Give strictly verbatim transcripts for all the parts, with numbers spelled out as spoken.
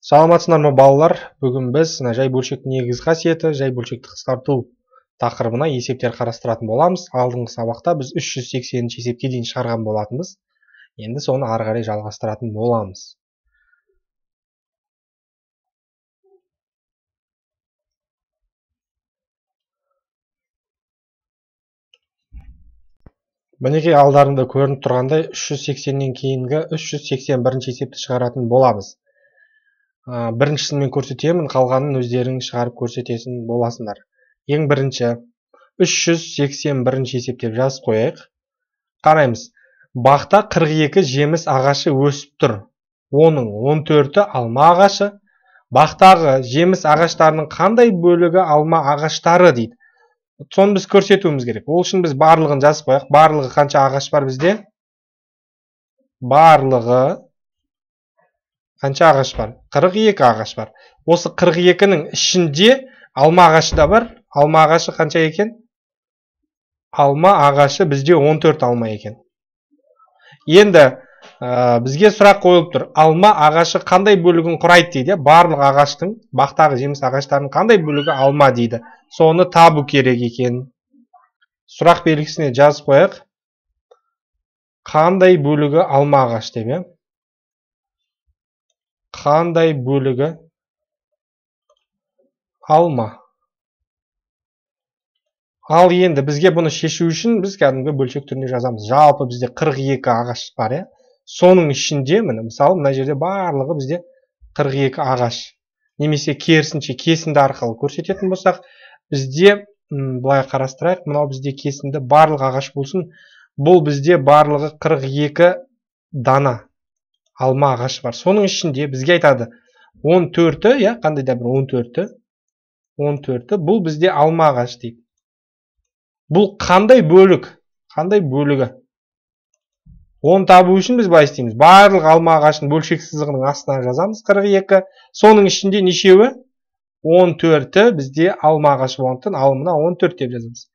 Саламатсыздар ма балалар? Бүгін біз жай бөлшектің негізгі қасиеті, жай бөлшекті қысқарту тақырыбына есептер қарастыратын боламыз. Алдыңғы сабақта біз үш жүз сексенінші есепке дейін шығарған болатынбыз. Енді соны ары қарай жалғастыратын боламыз. Мінекей алдарында көрініп тұрғандай үш жүз сексеннен кейінгі үш жүз сексен бірінші есепті шығаратын боламыз. Біріншісін мен көрсетемін, қалғанын өздерің шығарып көрсетесін боласыңдар. Ең бірінші үш жүз сексен бірінші есеп деп жазып қояйық. Қараймыз. Бақта қырық екі жеміс ағашы өсіп тұр. Оның он төрті алма ағашы. Бақтағы жеміс ағаштарының қандай бөлігі алма ағаштары дейді. Соны біз көрсетуіміз керек. Ол үшін біз барлығын жазып қояйық. Барлығы қанша ағаш бар бізде? Барлығы қанша ағаш бар? қырық екі ағаш бар. Осы қырық екінің ішінде алма ағашы да бар. Алма ағашы қанша екен? Алма ағашы бізде он төрт алма екен. Енді ә, бізге сұрақ қойылып тұр. Алма ағашы қандай бөлігін құрайды дейді. Барлық ағаштың, бақтағы жеміс ағаштарының қандай бөлігі алма дейді. Соны табу керек екен. Сұрақ белгісіне жазып қояйық. Қандай бөлігі алма ағаш деп. Қандай бөлігі алма. Ал енді бізге бұны шешу үшін біз кәдімгі бөлшек түрінде жазамыз. Жалпы бізде қырық екі ағаш бар, е. Соның ішінде, міне, мысалы, мына жерде барлығы бізде қырық екі ағаш. Немесе керісінше кесінді арқылы көрсететін болсақ, бізде былай қарастырайық, мынау бізде кесінді барлық ағаш болсын. Бұл бізде барлығы қырық екі дана алма ағаш бар. Соның ішінде бізге айтады он төрті, я, қандай да бір он төрті, он төрті, бұл бізде алма ағаш дейді. Бұл қандай бөлік? Қандай бөлігі? Оны табу үшін біз былай істейміз. Барлық алма ағашының бөлшек сызығының астына жазамыз қырық екі. Соның ішінде нешеуі? он төрті бізде алма ағашы болғандықтан ал мына он төрт деп жазамыз.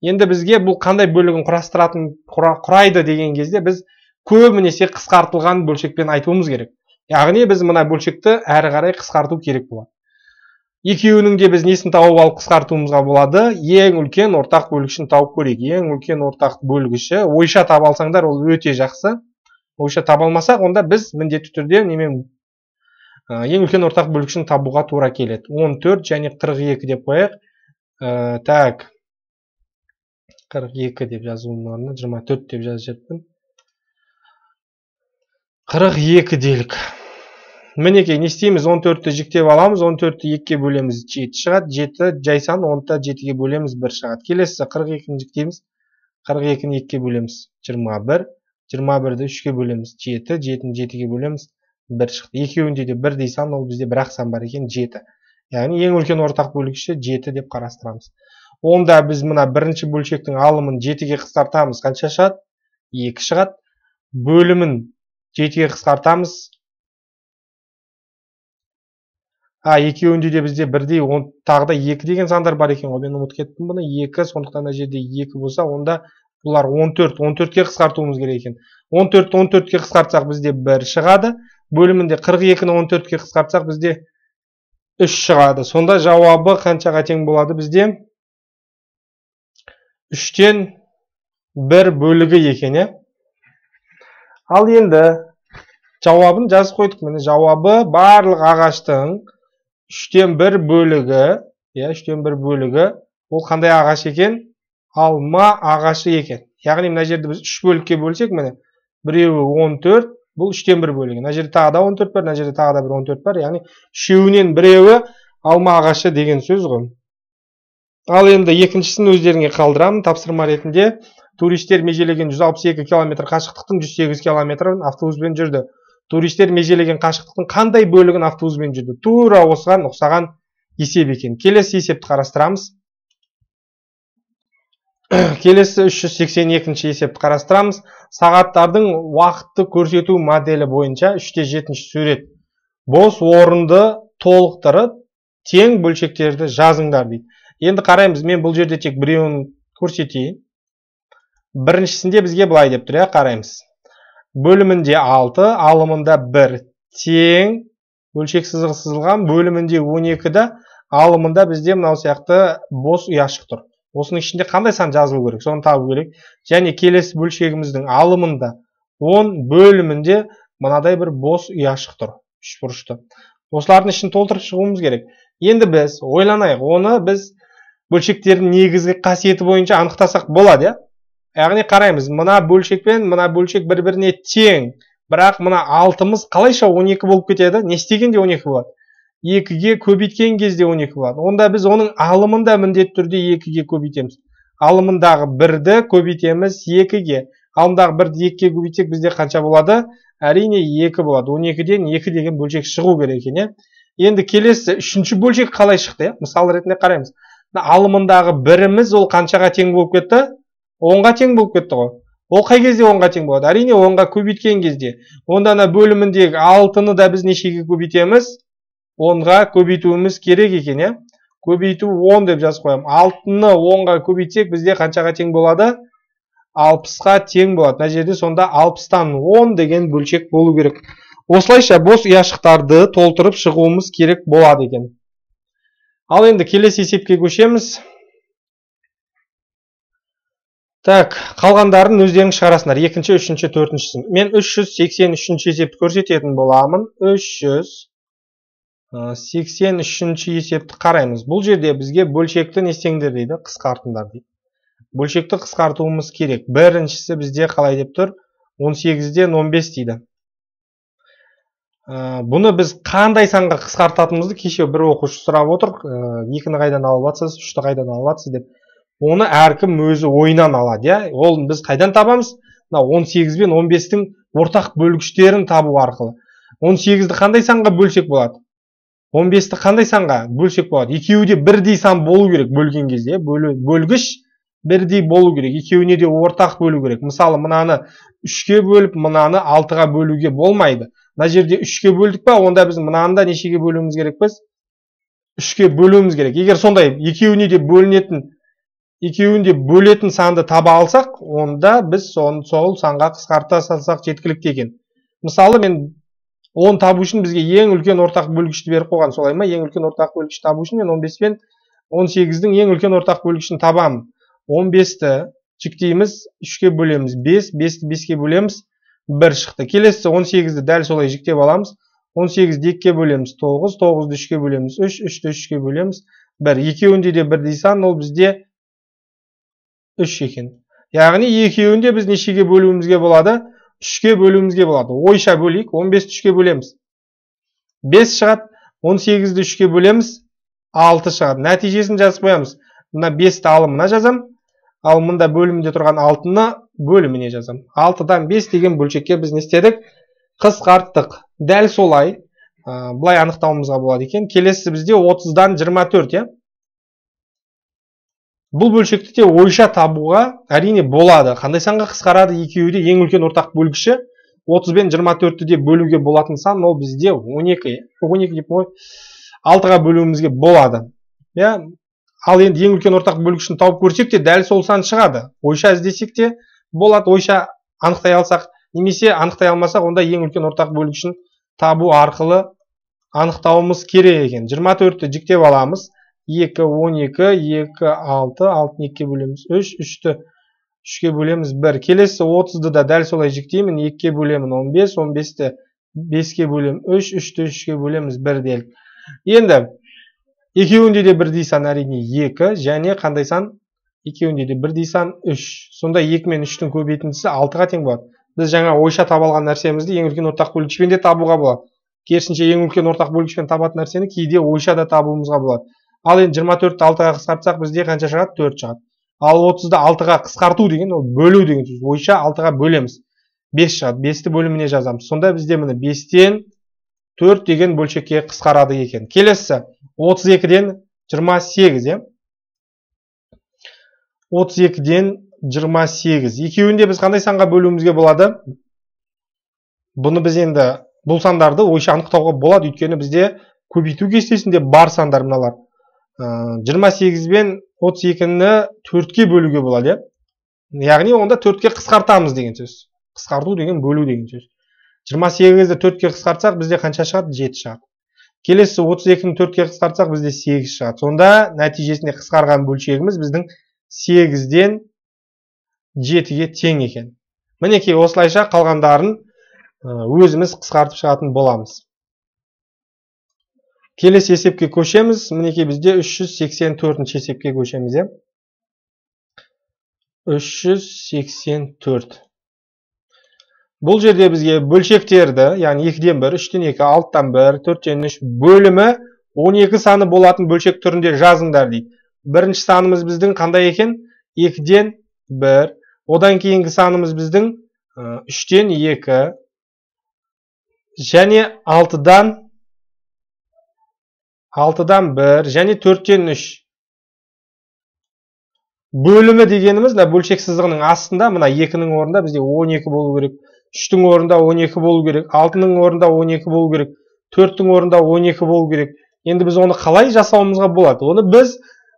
Енді бізге бұл қандай бөлігін құрастыратын құрайды деген кезде біз көбінесе қысқартылған бөлшекпен айтуымыз керек. Яғни біз мына бөлшекті әрі қарай қысқарту керек болады. Екеуінің де біз несін тауып алып қысқартуымызға болады. Ең үлкен ортақ бөлгішін тауып көрейік. Ең үлкен ортақ бөлгіші ойша таба алсаңдар, ол өте жақсы. Ойша таба алмасақ, онда біз міндетті түрде немен ең үлкен ортақ бөлгішін табуға тура келеді. он төрт және қырық екі деп қояйық. Ә, так. қырық екі деп жазуымның орнына жиырма төрт деп жазып қырық екі делік. Мінекей, не істейміз? он төртті жіктеп аламыз, он төртті екіге бөлеміз, жеті шығады, жеті жайсан, онды жетіге бөлеміз, бір шығады. Келесі қырық екіні жіктейміз, қырық екіні екіге бөлеміз, жиырма бір, жиырма бірді үшке бөлеміз, жеті, жетіні жетіге бөлеміз, бір шықты. Екеуінде де бірдей сан, ол бізде бір ақ сан бар екен, жеті. Яғни ең үлкен ортақ бөлгіші жеті деп қарастырамыз. Онда біз мына бірінші бөлшектің алымын жетіге қысқартамыз, қанша шығады? екі шығады. Бөлімін жетіге қысқартамыз. А, екеуінде де бізде бірдей, тағы да екі деген сандар бар екен ғой. Мен ұмытып кеттім бұны. екі, сондықтан мына жерде екі болса, онда бұлар он төрт, он төртке қысқартуымыз керек екен. он төртті он төртке қысқартсақ бізде бір шығады. Бөлімінде қырық екіні он төртке қысқартсақ бізде үш шығады. Сонда жауабы қаншаға тең болады бізде? үштен бір бөлігі екен, е. Ал енді жауабын жазып қойдық. Міне жауабы барлық ағаштың үштен бір бөлігі, я, үштен бір бөлігі, ол қандай ағаш екен? Алма ағашы екен. Яғни мына жерде біз үш бөлікке бөлсек, міне, біреуі он төрт, бұл үштен бір бөлігі. Мына жерде тағы да он төрт бар, мына жерде тағы да бір он төрт бар. Яғни үшеуінен біреуі алма ағашы деген сөз ғой. Ал енді екіншісін өздеріңе қалдырамын. Тапсырма ретінде туристер межелеген жүз алпыс екі километр қашықтықтың жүз сегіз километрін автобуспен жүрді. Туристер межелеген қашықтықтың қандай бөлігін автобуспен жүрді? Тура осыған ұқсаған есеп екен. Келесі есепті қарастырамыз. Келесі үш жүз сексен екінші есепті қарастырамыз. Сағаттардың уақытты көрсету моделі бойынша үште жетінші сурет. Бос орынды толықтырып, тең бөлшектерді жазыңдар дейді. Енді қараймыз, мен бұл жерде тек біреуін көрсетейін. Біріншісінде бізге былай деп тұр, қараймыз. Бөлімінде алты, алымында бір, тең бөлшек сызығы сызылған, бөлімінде он екіде, алымында бізде мынау сияқты бос ұяшық тұр. Осының ішінде қандай сан жазылу керек, соны табу керек. Және келесі бөлшегіміздің алымында он, бөлімінде мынадай бір бос ұяшық тұр, үш бұрышты. Осылардың ішін толтырып шығуымыз керек. Енді біз ойланайық, оны біз бөлшектердің негізгі қасиеті бойынша анықтасақ болады, я? Яғни қараймыз, мына бөлшек пен мына бөлшек бір-біріне тең, бірақ мына алтымыз қалайша он екі болып кетеді? Не істегенде он екі болады? екіге көбейткен кезде он екі болады. Онда біз оның алымында міндетті түрде екіге көбейтеміз. Алымындағы бірді көбейтеміз екіге. Алымдағы бірді екіге көбейтсек бізде қанша болады? Әрине екі болады. он екіден екі деген бөлшек шығу керек екен. Енді келесі үшінші бөлшек қалай шықты? Мысал ретінде қараймыз. Алымындағы біріміз ол қаншаға тең болып кетті? онға тең болып кетті ғой. Ол қай кезде онға тең болады? Әрине онға көбейткен кезде. Онда бөліміндегі алтыны да біз нешеге көбейтеміз? онға көбейтуіміз керек екен, е? Көбейту он деп жазып қоямын. алтыны онға көбейтсек бізде қаншаға тең болады? алпысқа тең болады. Мына жерде сонда алпыстан он деген бөлшек болу керек. Осылайша бос ұяшықтарды толтырып шығуымыз керек болады екен. Ал енді келесі есепке көшеміз. Так, қалғандарын өздерің шығарасыңдар. екінші, үшінші, төртіншісін. Мен үш жүз сексен үшінші есепті көрсететін боламын. үш жүз сексен үшінші есепті қараймыз. Бұл жерде бізге бөлшекті не істеңдер дейді? Қысқартыңдар дейді. Бөлшекті қысқартуымыз керек. Біріншісі бізде қалай деп тұр? он сегізден он бес дейді. Бұны біз қандай санға қысқартатынымызды кеше бір оқушы сұрап отыр. екіні қайдан алып жатсыз, үшті қайдан алып жатсыз деп. Оны әркім өзі ойынан алады, я? Ол біз қайдан табамыз? он сегіз бен он бестің ортақ бөлгіштерін табу арқылы. он сегізді қандай санға бөлсек болады? он бесті қандай санға бөлсек болады? Екеуі де бірдей сан болу керек бөлген кезде. Бөлгіш бірдей болу керек. Екеуіне де ортақ бөлу керек. Мысалы, мынаны үшке бөліп, мынаны алтыға бөлуге болмайды. Мына жерде үшке бөлдік па, онда біз мынаны да нешеге бөлуіміз керек біз? үшке бөлуіміз керек. Егер сондай екеуіне де бөлінетін екеуінде бөлетін санды таба алсақ, онда біз сол санға қысқарта салсақ жеткілікті екен. Мысалы, мен он табу үшін бізге ең үлкен ортақ бөлгішті беріп қойған, солай ма? Ең үлкен ортақ бөлгіш табу үшін мен он бес пен он сегіздің ең үлкен ортақ бөлгішін табамын. он бесті жіктейміз, үшке бөлеміз бес, бесті беске бөлеміз, бір шықты. Келесі он сегізді дәл солай жіктеп аламыз. он сегізді екіге бөлеміз тоғыз, тоғызды үшке бөлеміз үш, үшті үшке бөлеміз бір. Екеуінде де бірдей сан, ол бізде үш екен. Яғни екеуінде біз нешеге бөлуімізге болады? үшке бөлуімізге болады. Ойша бөлейік, он бесті үшке бөлеміз. бес шығады, он сегізді үшке бөлеміз, алты шығады. Нәтижесін жазып қоямыз. Мына бесті алымына жазам, ал мында бөлімінде тұрған алтыны бөліміне жазам. алтыдан бес деген бөлшекке біз не істедік? Қысқарттық. Дәл солай, бұлай анықтауымызға болады екен. Келесі бізде отыздан жиырма төрт, е? Бұл бөлшекті де ойша табуға әрине болады. Қандай санға қысқарады? Екеуі де ең үлкен ортақ бөлгіші. отыз бен жиырма төртті де бөлуге болатын сан, ол бізде он екі. он екі деп ой, алтыға бөлуімізге болады. Я, ал енді ең үлкен ортақ бөлгішін тауып көрсек те дәл сол сан шығады. Ойша іздесек те болады, ойша анықтай алсақ, немесе анықтай алмасақ, онда ең үлкен ортақ бөлгішін табу арқылы анықтауымыз керек екен. жиырма төртті жіктеп аламыз. екі, он екі, екі, алты, алтыны екіге бөлеміз үш, үшті үшке бөлеміз бір. Келесі отызды да дәл солай жіктеймін, екіге бөлемін он бес, он бесті беске бөлем үш, үшті үшке бөлеміз бір делік. Енді екеуінде де бірдей сан әрине екі, және қандай сан? Екеуінде де бірдей сан үш. Сонда екі мен үштің көбейтіндісі алтыға тең болады. Біз жаңа ойша таба алған нәрсемізді ең үлкен ортақ бөлгішпен де табуға болады. Керісінше ең үлкен ортақ бөлгішпен табатын нәрсені кейде ойша да табуымызға болады. Ал енді жиырма төртті алтыға қысқартсақ бізде қанша шығады? төрт шығады. Ал отызды алтыға қысқарту деген, ол бөлу деген сөз. Ойша алтыға бөлеміз. бес шығады. бесті бөліміне жазамыз. Сонда бізде міне бестен төрт деген бөлшекке қысқарады екен. Келесі отыз екіден жиырма сегіз, е? отыз екіден жиырма сегіз. Екеуінде біз қандай санға бөлуімізге болады? Бұны біз енді бұл сандарды ойша анықтауға болады, өйткені бізде көбейту кестесінде бар сандар мыналар. жиырма сегіз бен отыз екіні төртке бөлуге болады. Яғни онда төртке қысқартамыз деген сөз. Қысқарту деген бөлу деген сөз. жиырма сегізді төртке қысқартсақ бізде қанша шығады? жеті шығады. Келесі отыз екіні төртке қысқартсақ бізде сегіз шығады. Сонда нәтижесінде қысқарған бөлшегіміз біздің сегізден жетіге тең екен. Мінекей осылайша қалғандарын өзіміз қысқартып шығатын боламыз. Келесі есепке көшеміз. Мінекей бізде үш жүз сексен төртінші есепке көшеміз. үш жүз сексен төрт. Бұл жерде бізге бөлшектерді, яғни екіден бір, үштен екі, алтыдан бір, төрттен үш бөлімі он екі саны болатын бөлшек түрінде жазыңдар дейді. Бірінші санымыз біздің қандай екен? екіден бір. Одан кейінгі санымыз біздің үштен екі және алтыдан алтыдан бір және төрттен үш. Бөлімі дегеніміз бөлшек сызығының астында мына екінің орнында бізде он екі болу керек, үштің орнында он екі болу керек, алтының орнында он екі болу керек, төрттің орнында он екі болу керек. Енді біз оны қалай жасауымызға болады? Оны біз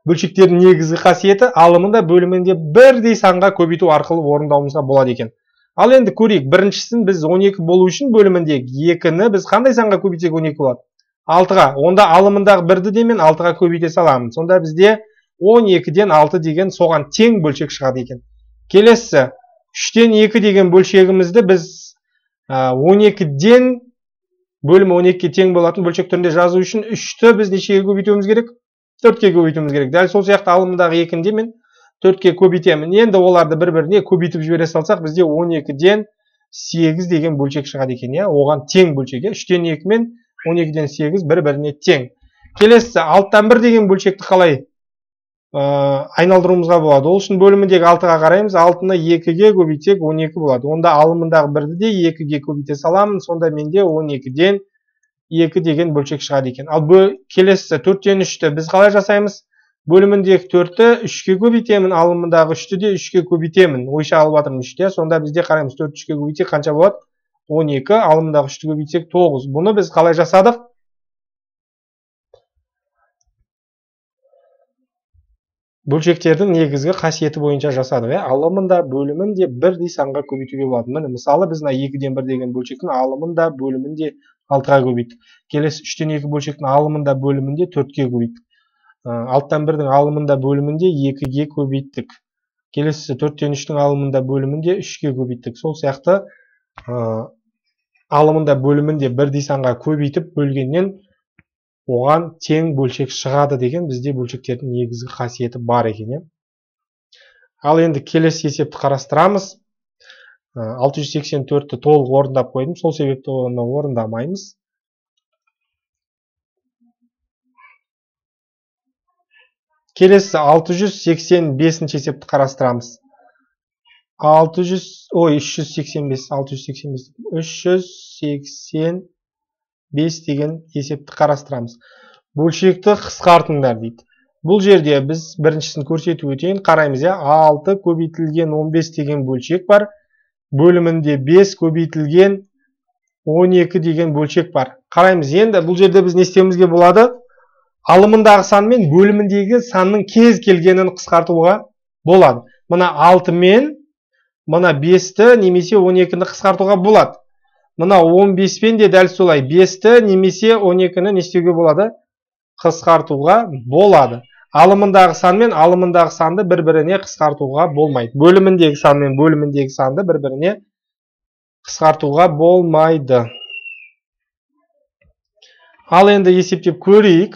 бөлшектердің негізгі қасиеті алымында бөлімінде бірдей санға көбейту арқылы орындауымызға болады екен. Ал енді көрейік, біріншісін біз он екі болу үшін бөліміндегі екіні біз қандай санға көбейтсек он екі болады? алтыға. Онда алымындағы бірді де мен алтыға көбейте саламын. Сонда бізде он екіден алты деген соған тең бөлшек шығады екен. Келесі, үштен екі деген бөлшегімізді біз он екіден бөлімі он екіге тең болатын бөлшек түрінде жазу үшін үшті біз нешеге көбейтуіміз керек? төртке көбейтуіміз керек. Дәл сол сияқты алымындағы екінде мен төртке көбейтемін. Енді оларды бір-біріне көбейтіп жібере салсақ, бізде он екіден сегіз деген бөлшек шығады екен. Оған тең бөлшек. үштен екі мен он екіден сегіз бір-біріне тең. Келесі, алтыдан бір деген бөлшекті қалай айналдыруымызға болады? Ол үшін бөліміндегі алтыға қараймыз. алтыны екіге көбейтсек он екі болады. Онда алымындағы бірді де екіге көбейте саламын. Сонда менде он екіден екі деген бөлшек шығады екен. Ал келесі төрттен үшті біз қалай жасаймыз? Бөліміндегі төртті үшке көбейтемін, алымындағы үшті де үшке көбейтемін. Ойша алып жатырмын үште. Сонда бізде қараймыз, төрт үшке көбейтсек қанша болады? он екі, алымындағы үшті көбейтсек тоғыз. Бұны біз қалай жасадық? Бөлшектердің негізгі қасиеті бойынша жасадық. Алымында бөлімін де бірдей санға көбейтуге болады. Міне, мысалы біз екіден бір деген бөлшектің алымында бөлімін де алтыға көбейттік. Келесі үштен екі бөлшектің алымында бөлімін де төртке көбейттік. алтыдан бірдің алымында бөлімін де екіге көбейттік. Келесі төрттен үштің алымында бөлімін де үшке көбейттік. Сол сияқты алымында бөлімін де бірдей санға көбейтіп бөлгеннен оған тең бөлшек шығады деген бізде бөлшектердің негізгі қасиеті бар екен. Ал енді келесі есепті қарастырамыз. алты жүз сексен төртті толық орындап қойдым. Сол себепті оны орындамаймыз. Келесі алты жүз сексен бесінші есепті қарастырамыз. алты жүз, ой, үш жүз сексен бес, алты жүз сексен бес, үш жүз сексен бес деген есепті қарастырамыз. Бөлшекті қысқартыңдар дейді. Бұл жерде біз біріншісін көрсетіп өтейін. Қараймыз, алты көбейтілген он бес деген бөлшек бар. Бөлімінде бес көбейтілген он екі деген бөлшек бар. Қараймыз, енді бұл жерде біз не істеуімізге болады? Алымындағы сан мен бөліміндегі санның кез келгенін қысқартуға болады. Мына алты мен мына бесті немесе он екіні қысқартуға болады. Мына он бес пен де дәл солай бесті немесе он екіні не істеуге болады? Қысқартуға болады. Алымындағы сан мен алымындағы санды бір-біріне қысқартуға болмайды. Бөліміндегі сан мен бөліміндегі санды бір-біріне қысқартуға болмайды. Ал енді есептеп көрейік.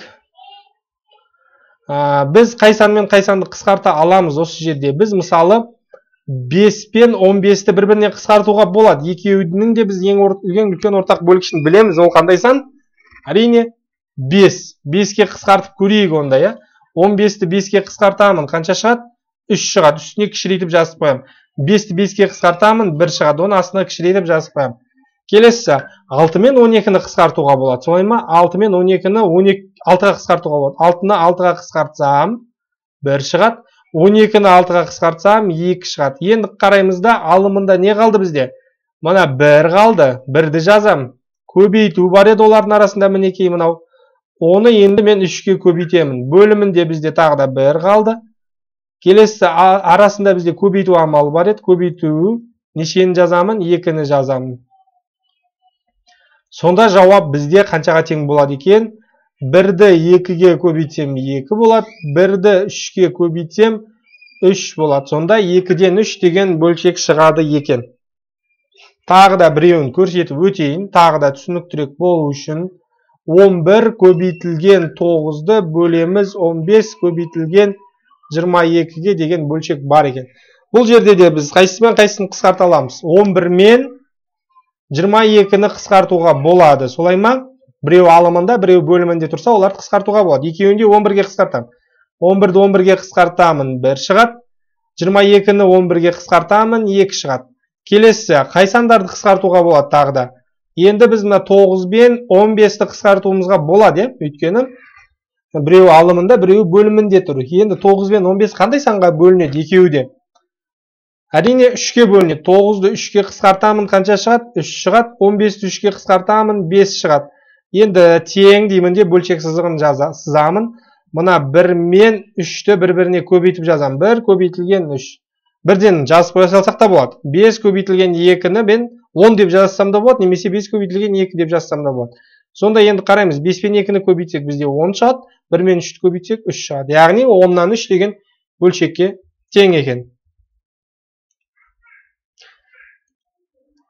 Біз қай сан мен қай санды қысқарта аламыз осы жерде? Біз мысалы бес пен он бесті бір-біріне қысқартуға болады. Екеуінің де біз ең үлкен ортақ бөлгішін білеміз. Ол қандай сан? Әрине бес. беске қысқартып көрейік онда. он бесті беске қысқартамын. Қанша шығады? үш шығады. Үстіне кішірейтіп жазып қоямын. бесті беске қысқартамын. бір шығады. Оны астына кішірейтіп жазып қоямын. Келесі, алты мен он екіні қысқартуға болады. Солай ма? алты мен он екіні алтыға қысқартуға болады. алтыны алтыға қысқартсам, бір шығады. он екіні алтыға қысқартсам, екі шығады. Енді қараймызда алымында не қалды бізде? Мына бір қалды. бірді жазам. Көбейту бар еді олардың арасында мінекей мынау. Оны енді мен үшке көбейтемін. Бөлімінде бізде тағы да бір қалды. Келесі арасында бізде көбейту амалы бар еді. Көбейту нешені жазамын? екіні жазамын. Сонда жауап бізде қаншаға тең болады екен? бірді екіге көбейтсем екі болады, бірді үшке көбейтсем үш болады. Сонда екіден үш деген бөлшек шығады екен. Тағы да біреуін көрсетіп өтейін, тағы да түсініктірек болу үшін. он бір көбейтілген тоғызды бөлеміз он бес көбейтілген жиырма екіге деген бөлшек бар екен. Бұл жерде де біз қайсымен қайсысын қысқарта аламыз? он бір мен жиырма екіні қысқартуға болады. Солай ма? Біреу алымында, біреу бөлімінде тұрса, оларды қысқартуға болады. Екеуінде он бірге қысқартамын. он бірді он бірге қысқартамын, бір шығады. жиырма екіні он бірге қысқартамын, екі шығады. Келесі, қай сандарды қысқартуға болады тағы да? Енді біз мына тоғыз бен он бесті қысқартуымызға болады, өйткені біреу алымында, біреу бөлімінде тұр. Енді тоғыз бен он бес қандай санға бөлінеді екеуі де? Әрине үшке бөлінеді. тоғызды үшке қысқартамын, қанша шығады? үш шығады. он бесті үшке қысқартамын, бес шығады. Енді тең деймін де бөлшек сызығын сызамын. Мына бір мен үшті бір-біріне көбейтіп жазам. бір көбейтілген үш. Бірден жазып қоя салсақ та болады. бес көбейтілген екіні мен он деп жазсам да болады, немесе бес көбейтілген екі деп жазсам да болады. Сонда енді қараймыз, бес пен екіні көбейтсек бізде он шығады, бір мен үшті көбейтсек үш шығады. Яғни оннан үш деген бөлшекке тең екен.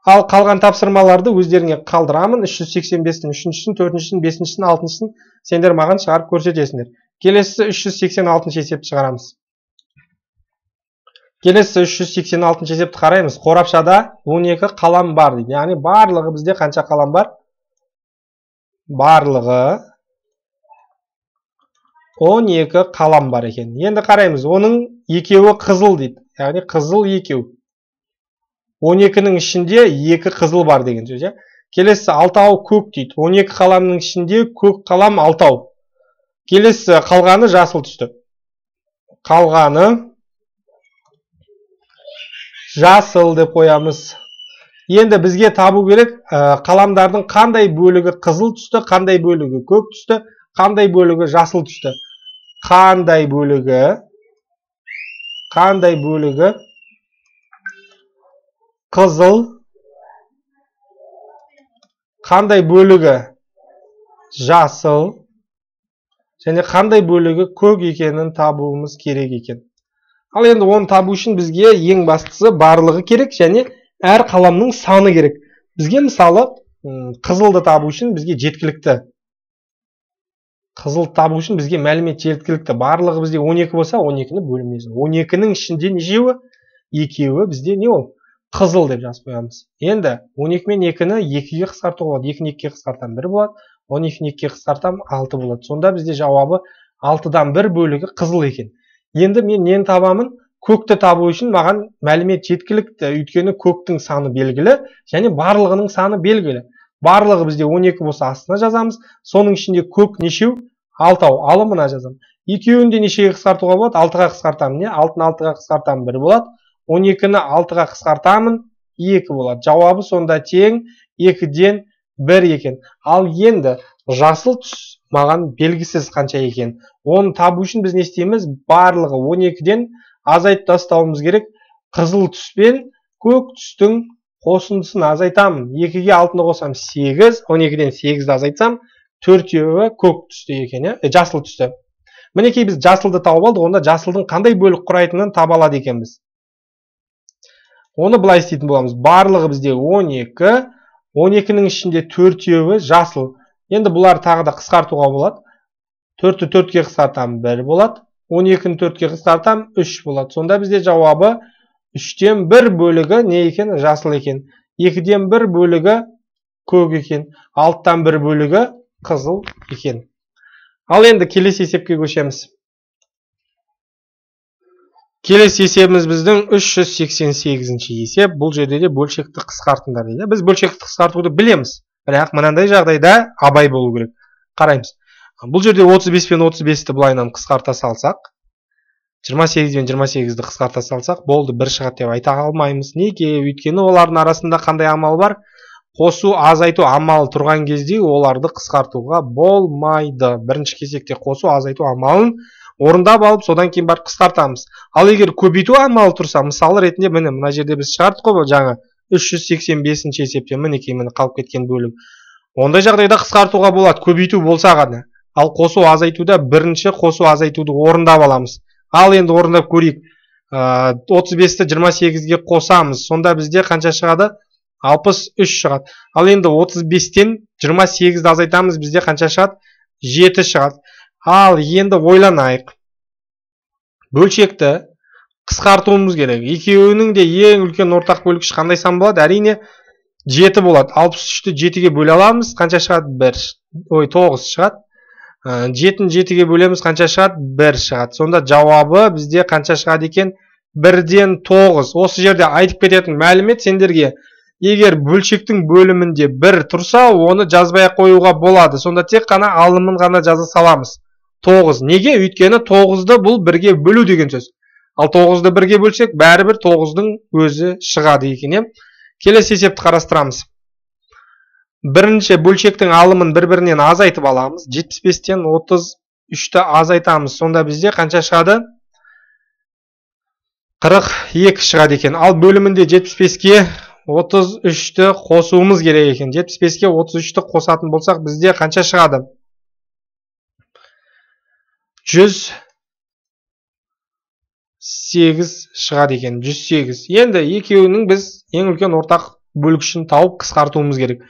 Ал қалған тапсырмаларды өздеріңе қалдырамын. үш жүз сексен бестің үшіншісін, төртіншісін, бесіншісін, алтыншысын сендер маған шығарып көрсетесіңдер. Келесі үш жүз сексен алтыншы есепті шығарамыз. Келесі үш жүз сексен алтыншы есепті қараймыз. Қорапшада он екі қалам бар дейді. Яғни барлығы бізде қанша қалам бар? Барлығы он екі қалам бар екен. Енді қараймыз, оның екеуі қызыл дейді. Яғни қызыл екеу. он екінің ішінде екі қызыл бар деген сөз. Келесі алтау көк дейді. он екі қаламның ішінде көк қалам алтау. Келесі қалғаны жасыл түсті. Қалғаны жасыл деп қоямыз. Енді бізге табу керек қаламдардың қандай бөлігі қызыл түсті, қандай бөлігі көк түсті, қандай бөлігі жасыл түсті. Қандай бөлігі қандай бөлігі қызыл, қандай бөлігі жасыл, және қандай бөлігі көк екенін табуымыз керек екен. Ал енді оны табу үшін бізге ең бастысы барлығы керек, және әр қаламның саны керек. Бізге мысалы қызылды табу үшін бізге жеткілікті. Қызыл табу үшін бізге мәлімет жеткілікті. Барлығы бізде он екі болса, он екіні бөліміз. он екінің ішінде нешеуі? Екеуі бізде не ол? Қызыл деп жазып қоямыз. Енді он екі мен екіні екіге қысқартуға болады. екіні екіге қысқартам бір болады. он екіні екіге қысқартам алты болады. Сонда бізде жауабы алтыдан бір бөлігі қызыл екен. Енді мен нені табамын? Көкті табу үшін маған мәлімет жеткілікті. Өйткені көктің саны белгілі, және барлығының саны белгілі. Барлығы бізде он екі болса астына жазамыз. Соның ішінде көк нешеу? алтау. Алымына жазамын. Екеуінде нешеге қысқартуға болады? алтыға қысқартамын. Не? алтыны алтыға қысқартамын бір болады. он екіні алтыға қысқартамын екі болады. Жауабы сонда тең екіден бір екен. Ал енді жасыл түс маған белгісіз қанша екен. Оны табу үшін біз не істейміз? Барлығы он екіден азайтып тастауымыз керек. Қызыл түс пен көк түстің қосындысын азайтамын. екіге алтыны қосам сегіз, он екіден сегізді азайтсам төртеуі көк түсті екен, е, жасыл түсті. Мінекей біз жасылды тауып алдық, онда жасылдың қандай бөлік құрайтынын таба алады екенбіз. Оны былай істейтін боламыз. Барлығы бізде он екі, он екінің ішінде төртеуі жасыл. Енді бұлар тағы да қысқартуға болады. төртті төртке қысқартам бір болады. он екіні төртке қысқартам үш болады. Сонда бізде жауабы үштен бір бөлігі не екен? Жасыл екен. екіден бір бөлігі көк екен. алтыдан бір бөлігі қызыл екен. Ал енді келесі есепке көшеміз. Келесі есебіміз біздің үш жүз сексен сегізінші есеп. Бұл жерде де бөлшекті қысқартыңдар дейді. Біз бөлшекті қысқартуды білеміз. Бірақ мынандай жағдайда абай болу керек. Қараймыз. Бұл жерде отыз бес пен отыз бесті былайынан қысқарта салсақ, жиырма сегіз бен жиырма сегізді қысқарта салсақ, болды бір шығады деп айта алмаймыз. Неге? Өйткені олардың арасында қандай амал бар? Қосу, азайту амалы тұрған кезде оларды қысқартуға болмайды. Бірінші кезекте қосу, азайту амалын орындап алып, содан кейін барып қысқартамыз. Ал егер көбейту амалы тұрса, мысалы ретінде міне мына жерде біз шығардық қой жаңа үш жүз сексен бесінші есепте мінекей міне қалып кеткен бөлік. Ондай жағдайда қысқартуға болады, көбейту болса ғана. Ал қосу азайтуда бірінші қосу азайтуды орындап аламыз. Ал енді орындап көрейік. отыз бесті жиырма сегізге қосамыз. Сонда бізде қанша шығады? алпыс үш шығады. Ал енді отыз бестен жиырма сегізді азайтамыз, бізде қанша шығады? жеті шығады. Ал енді ойланайық. Бөлшекті қысқартуымыз керек. Екеуінің де ең үлкен ортақ бөлгіш қандай сан болады? Әрине жеті болады. алпыс үшті жетіге бөле аламыз. Қанша шығады? бір. Ой, тоғыз шығады. жетіні жетіге бөлеміз, қанша шығады? бір шығады. Сонда жауабы бізде қанша шығады екен? бірден тоғыз. Осы жерде айтып кететін мәлімет сендерге. Егер бөлшектің бөлімінде бір тұрса, оны жазбай қоюға болады. Сонда тек қана алымын ғана жаза саламыз. тоғыз. Неге? Өйткені тоғызды бұл бірге бөлу деген сөз. Ал тоғызды бірге бөлсек, бәрібір тоғыздың өзі шығады екен. Келесі есепті қарастырамыз. Бірінші бөлшектің алымын бір-бірінен азайтып аламыз. жетпіс бестен отыз үшті азайтамыз. Сонда бізде қанша шығады? қырық екі шығады екен. Ал бөлімінде жетпіс беске отыз үшті қосуымыз керек екен. жетпіс беске отыз үшті қосатын болсақ, бізде қанша шығады? жүз сегіз шығады екен. жүз сегіз. Енді екеуінің біз ең үлкен ортақ бөлгішін тауып қысқартуымыз керек.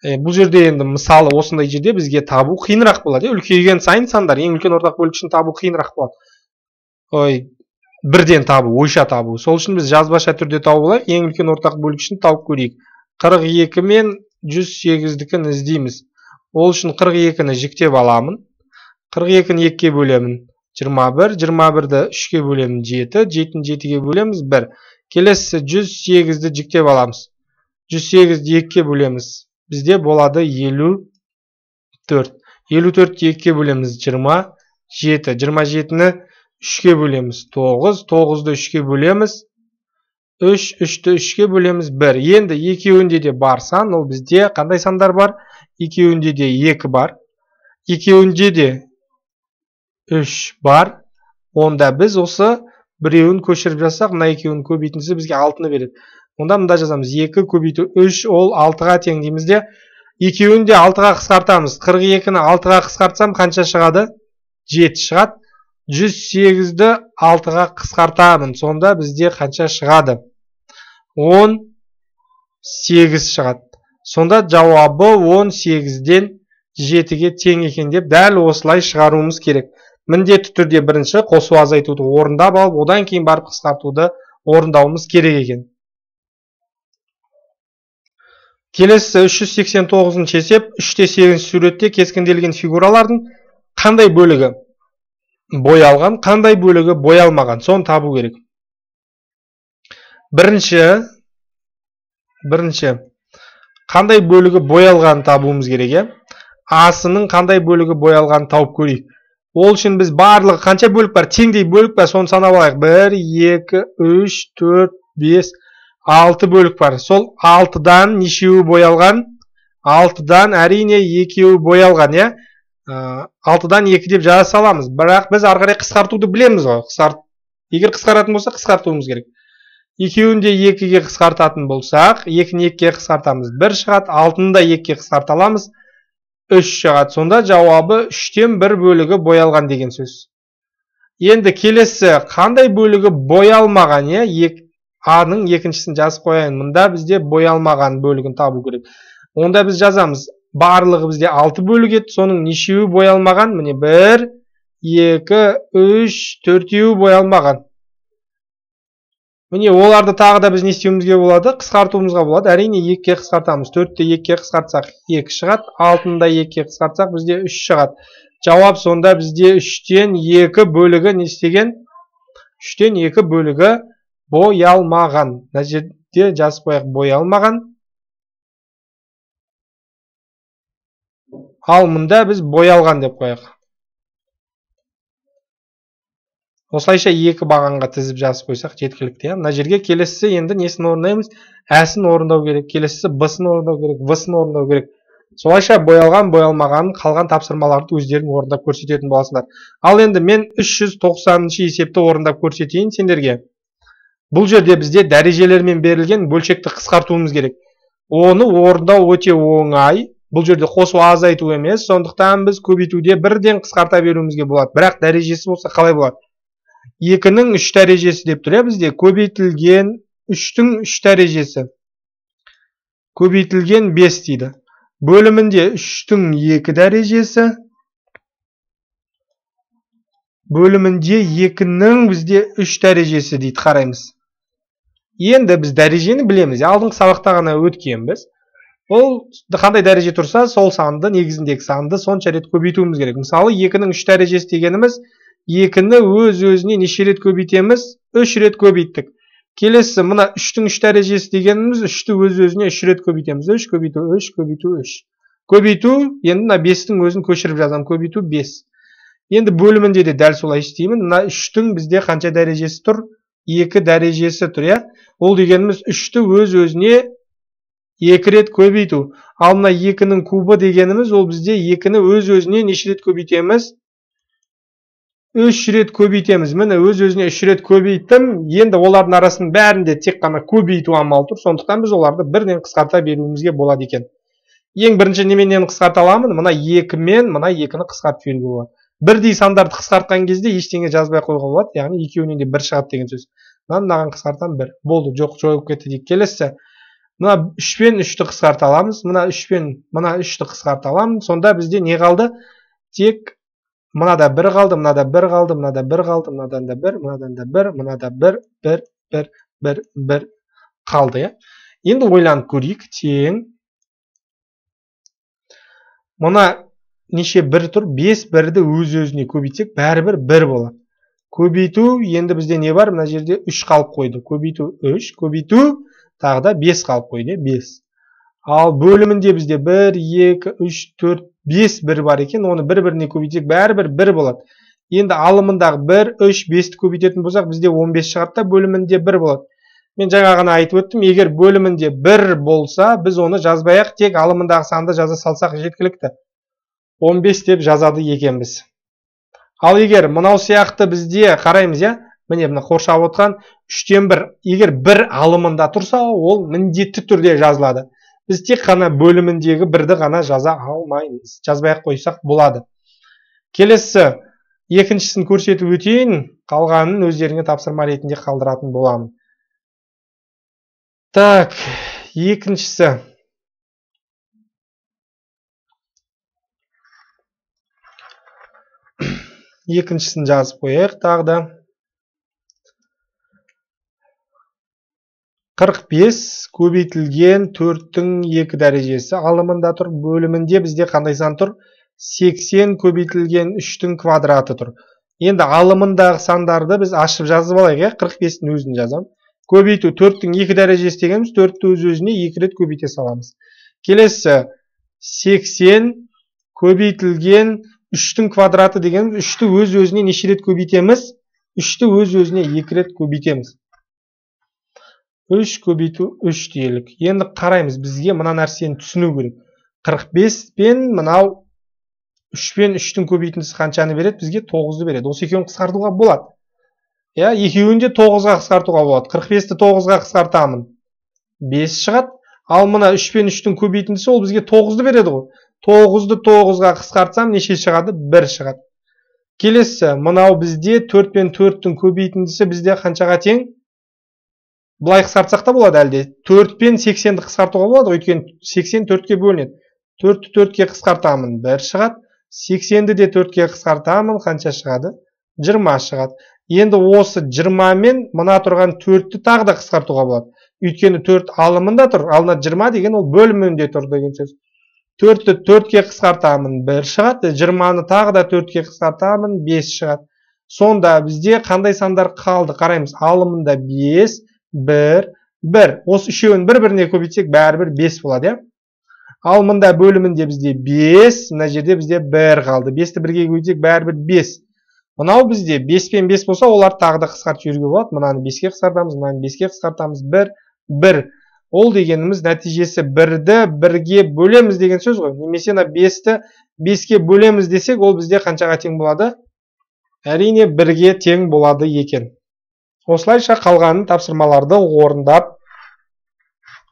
Е, бұл жерде енді мысалы осындай жерде бізге табу қиынырақ болады. Үлкейген сайын сандар ең үлкен ортақ бөлгішін табу қиынырақ болады. Ой, бірден табу, ойша табу. Сол үшін біз жазбаша түрде тауып алайық. Ең үлкен ортақ бөлгішін тауып көрейік. қырық екі мен жүз сегіздікін іздейміз. Ол үшін қырық екіні жіктеп аламын. қырық екіні екіге бөлемін. жиырма бір, жиырма бірді үшке бөлемін. жеті, жетіні жетіге бөлеміз. бір. Келесі жүз сегізді жіктеп аламыз. жүз сегізді екіге бөлеміз. Бізде болады елу төрт. елу төртті екіге бөлеміз. жиырма жеті. жиырма жетіні үшке бөлеміз. тоғыз. тоғызды үшке бөлеміз. үш. үшті үшке бөлеміз. бір. Енді екеуінде де бар сан. Ол бізде қандай сандар бар? Екеуінде де екі бар. Екеуінде де үш бар. Онда біз осы біреуін көшіріп жасақ, мына екеуін көбейтіндісі бізге алтыны береді. Онда мында жазамыз. екі көбейту үш, ол алтыға тең дейміз де. Екеуін де алтыға қысқартамыз. қырық екіні алтыға қысқартсам қанша шығады? жеті шығады. жүз сегізді алтыға қысқартамын. Сонда бізде қанша шығады? он сегіз шығады. Сонда жауабы он сегізден жетіге тең екен деп дәл осылай шығаруымыз керек. Міндетті түрде бірінші қосу азайтуды орындап алып, одан кейін барып қысқартуды орындауымыз керек екен. Келесі үш жүз сексен тоғызыншы есеп. үште сегізінші суретте кескінделген фигуралардың қандай бөлігі боялған, қандай бөлігі боялмаған, соны табу керек. Бірінші, бірінші, қандай бөлігі боялған табуымыз керек. Асының қандай бөлігі боялған тауып көрейік. Ол үшін біз барлығы қанша бөлік бар? Теңдей бөлік бар, соны санап алайық. бір, екі, үш, төрт, бес, алты бөлік бар. Сол алтыдан нешеуі боялған? алтыдан әрине екеуі боялған, я? алтыдан екі деп жаза саламыз. Бірақ біз ары қарай қысқартуды білеміз ғой. Қысқарт... Егер қысқаратын болса, қысқартуымыз керек. Екеуін де екіге қысқартатын болсақ, екіні екіге қысқартамыз. бір шығады, алтыны да екіге қысқарта аламыз. үш шығады. Сонда жауабы үштен бір бөлігі боялған деген сөз. Енді келесі қандай бөлігі боялмаған, е? А-ның екіншісін жазып қояйын. Мұнда бізде боялмаған бөлігін табу керек. Онда біз жазамыз. Барлығы бізде алты бөлік еді. Соның нешеуі боялмаған? Міне бір, екі, үш, төртеуі боялмаған. Міне оларды тағы да біз не істеуімізге болады? Қысқартуымызға болады. Әрине екіге қысқартамыз. төртті екіге қысқартсақ екі шығады. алтыны да екіге қысқартсақ бізде үш шығады. Жауап сонда бізде үштен екі бөлігі не істеген? үштен екі бөлігі боялмаған. Мына жерде жазып қояйық, боялмаған. Ал мұнда біз боялған деп қояйық. Осылайша екі бағанға тізіп жазып қойсақ жеткілікті. Мына жерге келесі енді несін орындаймыз? Әсін орындау керек, келесі Б-сын орындау керек, В-сын орындау керек. Солайша боялған, боялмаған қалған тапсырмаларды өздерің орындап көрсететін боласыңдар. Ал енді мен үш жүз тоқсаныншы есепті орындап көрсетейін сендерге. Бұл жерде бізде дәрежелермен берілген бөлшекті қысқартуымыз керек. Оны орындау өте оңай. бұл жерде қосу азайту емес, сондықтан біз көбейтуде бірден қысқарта беруімізге болады. Бірақ дәрежесі болса қалай болады? екінің үш дәрежесі деп тұр, бізде көбейтілген үштің үш дәрежесі. Көбейтілген бес дейді. Бөлімінде үштің екі дәрежесі. Бөлімінде екінің бізде үш дәрежесі дейді, қараймыз. Енді біз дәрежені білеміз. Алдыңғы сабақта ғана өткенбіз. Ол қандай дәреже тұрса, сол санды, негізіндегі санды сонша рет көбейтуіміз керек. Мысалы, екінің үш дәрежесі дегеніміз, екіні өз-өзіне неше рет көбейтеміз? үш рет көбейттік. Келесі, мына үштің үш дәрежесі дегеніміз, үшті өз-өзіне үш рет көбейтеміз. үш көбейту, үш көбейту, үш. Көбейту, енді мына бестің өзін көшіріп жазам. Көбейту бес. Енді бөлімінде де дәл солай істеймін. Мына үштің бізде қанша дәрежесі тұр? екі дәрежесі тұр, иә? Ол дегеніміз үшті өз-өзіне екі рет көбейту. Ал мына екінің кубы дегеніміз, ол бізде екіні өз-өзіне неше рет көбейтеміз? үш рет көбейтеміз. Міне өз-өзіне үш рет көбейттім. Енді олардың арасының бәрінде тек қана көбейту амалы тұр. Сондықтан біз оларды бірден қысқарта беруімізге болады екен. Ең бірінші неменен қысқарта аламын? Мына екі мен мына екіні қысқартып беруге болады. Бірдей сандарды қысқартқан кезде ештеңе жазбай қоюға болады. Яғни екеуінен де бір шығады деген сөз. Мынаған қысқартам бір. Болды, жоқ, жойылып кетті дейік. Келесі. Мына үш пен үшті қысқарта аламыз. Мына үш пен мына үшті қысқарта аламын. Сонда бізде не қалды? Тек мынада бір қалды, мынада бір қалды, мынада бір қалды, мынадан да бір, мынадан да бір, мынада бір, бір, бір, бір, бір қалды, иә. Енді ойланып көрейік. Тең. Мына неше бір тұр? бес бірді өз-өзіне көбейтсек, бәрібір бір болады. Көбейту, енді бізде не бар? Мына жерде үш қалып қойды. Көбейту үш, көбейту тағы да бес қалып қойды, бес. Ал бөлімінде бізде бір, екі, үш, төрт, бес бір бар екен. Оны бір-біріне көбейтсек, бәрібір бір болады. Енді алымындағы бір, үш, бесті көбейтетін болсақ, бізде он бес шығады да бөлімінде бір болады. Мен жаңа ғана айтып өттім, егер бөлімінде бір болса, біз оны жазбай-ақ тек алымындағы санды жаза салсақ жеткілікті. он бес деп жазады екенбіз. Ал егер мынау сияқты бізде қараймыз, иә? Міне мына қоршап отқан үштен бір. Егер бір алымында тұрса, ол міндетті түрде жазылады. Біз тек қана бөліміндегі бірді ғана жаза алмаймыз. Жазбай-ақ қойсақ болады. Келесі, екіншісін көрсетіп өтейін, қалғанын өздеріңе тапсырма ретінде қалдыратын боламын. Так, екіншісі. Екіншісін жазып қояйық тағы да. қырық бес көбейтілген төрттің екі дәрежесі алымында тұр. Бөлімінде бізде қандай сан тұр? сексен көбейтілген үштің квадраты тұр. Енді алымындағы сандарды біз ашып жазып алайық, қырық бестің өзін жазам. Көбейту төрттің екі дәрежесі дегеніміз төртті өз-өзіне екі рет көбейте саламыз. Келесі сексен көбейтілген үштің квадраты дегеніміз үшті өз-өзіне неше рет көбейтеміз? үшті өз-өзіне екі рет көбейтеміз. үш көбейту үш дейілік. Енді қараймыз, бізге мына нәрсені түсіну керек. қырық бес пен мынау үш пен үштің көбейтіндісі қаншаны береді? Бізге тоғызды береді. Осы екеуін қысқартуға болады. Я, екеуін де тоғызға қысқартуға болады. қырық бесті тоғызға қысқартамын. бес шығады. Ал мына үш пен үштің көбейтіндісі ол бізге тоғызды береді ғой. тоғызды тоғызға қысқартсам неше шығады? бір шығады. Келесі, мынау бізде төрт пен төрттің көбейтіндісі бізде қаншаға тең? Бұлай қысқартсақ та болады әлде. төрт пен сексенді қысқартуға болады, өйткені сексен төртке бөлінеді. төртті төртке қысқартамын, бір шығады. сексенді де төртке қысқартамын, қанша шығады? жиырма шығады. Енді осы жиырма мен мына тұрған төртті тағы да қысқартуға болады. Өйткені төрт алымында тұр, алына жиырма деген ол бөлімінде тұр деген сөз. төртті төртке қысқартамын, бір шығады. жиырманы тағы да төртке қысқартамын, бес шығады. Сонда бізде қандай сандар қалды? Қараймыз, алымында бес, бір, бір. Осы үшеуін бір-біріне көбейтсек, бәрібір бес болады, иә? Ал мында бөлімінде бізде бес, мына жерде бізде бір қалды. бесті бірге көбейтсек, бәрібір бес. Мынау бізде бес пен бес болса, олар тағы да қысқартып жіберуге болады. Мынаны беске қысқартамыз, мынаны беске қысқартамыз, бір, бір. Ол дегеніміз нәтижесі бірді бірге бөлеміз деген сөз ғой. Немесе бесті беске бөлеміз десек, ол бізде қаншаға тең болады? Әрине бірге тең болады екен. Осылайша қалғанын тапсырмаларды орындап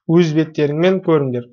өз беттеріңмен көріңдер.